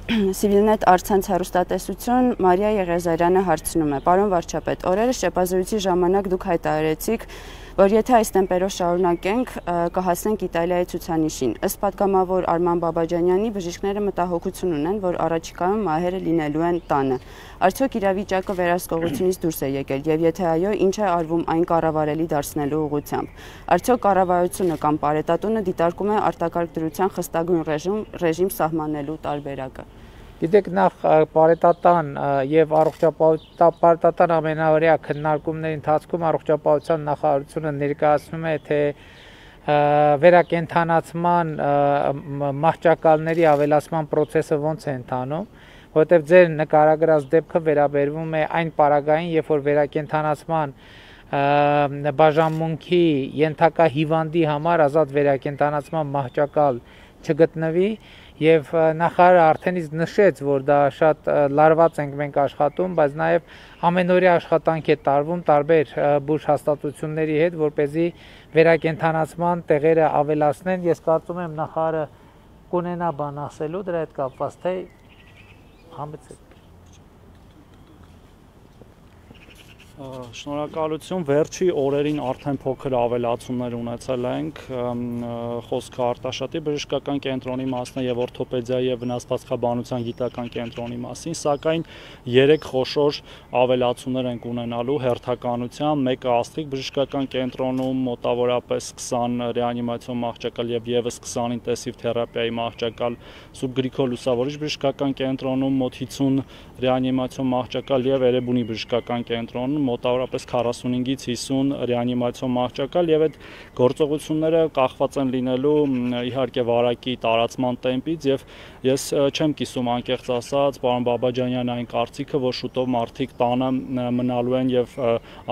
Civilnet առցանց հեռուստատեսություն Մարիա Եղեզարյանը հարցնում է. Պարոն վարչապետ, օրերս շեպազրույցի ժամանակ դուք հայտարարեցիք, որ եթե այս տեմպերով շարունակենք, կհասնենք Իտալիայի ցուցանիշին։ Ըստ պատգամավոր Արման Բաբաջանյանի, բժիշկները մտահոգություն ունեն, որ առաջիկայում մահերը լինելու են տանը։ Արդյոք իրավիճակը վերահսկողությունից դուրս է եկել, եւ եթե այո, ինչ է արվում այն կառավարելի դարձնելու ուղղությամբ։ Արդյոք կառավարությունը կամ Պարետատունը դիտարկում է արտակարգ դրության խստագույն ռեժիմ սահմանելու տարբերակը։ Գիտեք, նախ պարետատան եւ պարետատան ամենաօրյա քննարկումների ընթացքում առողջապահության նախարարությունը ներկայացնում է, թե վերակենդանացման մահճակալների ավելացման process-ը ոնց է ընթանում, որովհետեւ ձեր նկարագրած դեպքը վերաբերվում է այն պարագային, երբ որ վերակենդանացման բաժանմունքի ենթակա հիվանդի համար ազատ վերակենդանացման մահճակալ չգտնվի եւ նախարարը արդեն իսկ նշեց, որ դա շատ լարված ենք մենք աշխատում, բայց նաեւ ամենօրյա աշխատանք է տարվում տարբեր բուժ հաստատությունների հետ, որպեսզի վերակենդանացման տեղերը ավելացնեն։ Ես կարծում եմ նախարարը կունենա բան ասելու դրա հետ կապված, թե համեցեք։ Շնորհակալություն, վերջի օրերին արդեն փոքր ավելացումներ ունեցել ենք, խոսքը Արտաշատի բժշկական կենտրոնի մասն է եւ օրթոպեդիայի եւ վնասվածքաբանության գիտական կենտրոնի մասին, սակայն 3 խոշոր ավելացումներ ենք ունենալու հերթականությամբ, մեկը Աստրիկ բժշկական կենտրոնում մոտավորապես 20 ռեանիմացիոն մահճակալ եւ եւս 20 ինտենսիվ թերապիայի մահճակալ, Սուրբ Գրիգոր Լուսավորիչ բժշկական կենտրոնում մոտ 50 ռեանիմացիոն մահճակալ եւ Էրեբունի բժշկական կենտրոնում մոտավորապես 45-ից 50 ռեանիմացիոն մահճակալ եւ այդ գործողությունները կախված են լինելու իհարկե վարակի տարածման տեմպից եւ ես չեմ կիսում անկեղծ ասած պարոն Բաբաջանյանի այն կարծիքը, որ շուտով մարդիկ տանը մնալու են եւ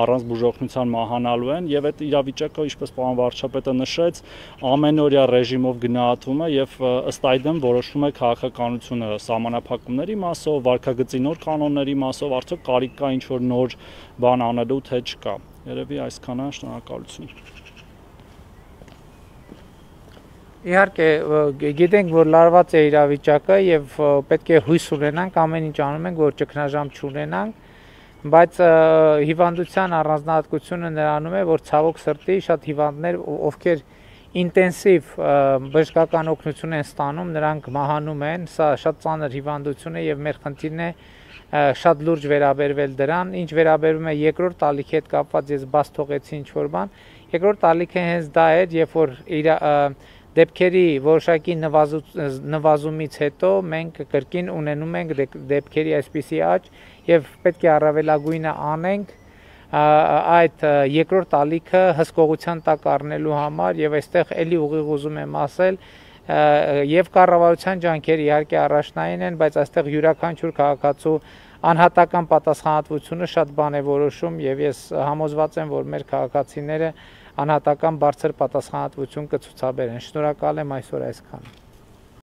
առանց բուժօգնության մահանալու են եւ այդ իրավիճակը, ինչպես պարոն վարչապետը նշեց, ամենօրյա ռեժիմով գնահատվում է եւ ըստ այդմ որոշվում է քաղաքականությունը սահմանափակումների մասով, վարքագծի նոր կանոնների մասով, արդյոք կարիք կա ինչ որ նոր բան անելու թե չկա։ Երևի այսքանը, շնորհակալություն։ Իհարկե, գիտենք, որ լարված է իրավիճակը եւ պետք է հույս ունենանք, ամեն ինչ անում ենք, որ ճգնաժամ չունենանք, բայց հիվանդության առանձնահատկությունը նրանում է, որ ցավոք սրտի շատ հիվանդներ, ովքեր ինտենսիվ բժշկական օգնություն են ստանում, նրանք մահանում են, սա շատ ծանր հիվանդություն է եւ մեր խնդիրն է շատ լուրջ վերաբերվել դրան, ինչ վերաբերվում է երկրորդ ալիքի հետ կապված ես բաց թողեցի ինչ որ բան, երկրորդ ալիքը հենց դա էր, երբ որ դեպքերի որոշակի նվազումից հետո մենք կրկին ունենում ենք դեպքերի այսպիսի աճ եւ պետք է առավելագույնը անենք այդ երկրորդ ալիքը հսկողության տակ առնելու համար եւ այստեղ էլի ուղիղ ուզում եմ ասել եւ կառավարության ջանքերը իհարկե առաջնային են, բայց այստեղ յուրաքանչյուր քաղաքացու անհատական պատասխանատվությունը շատ բան է որոշում եւ ես համոզված եմ, որ մեր քաղաքացիները անհատական բարձր պատասխանատվություն կցուցաբերեն։ Շնորհակալ եմ այսօր այսքանը։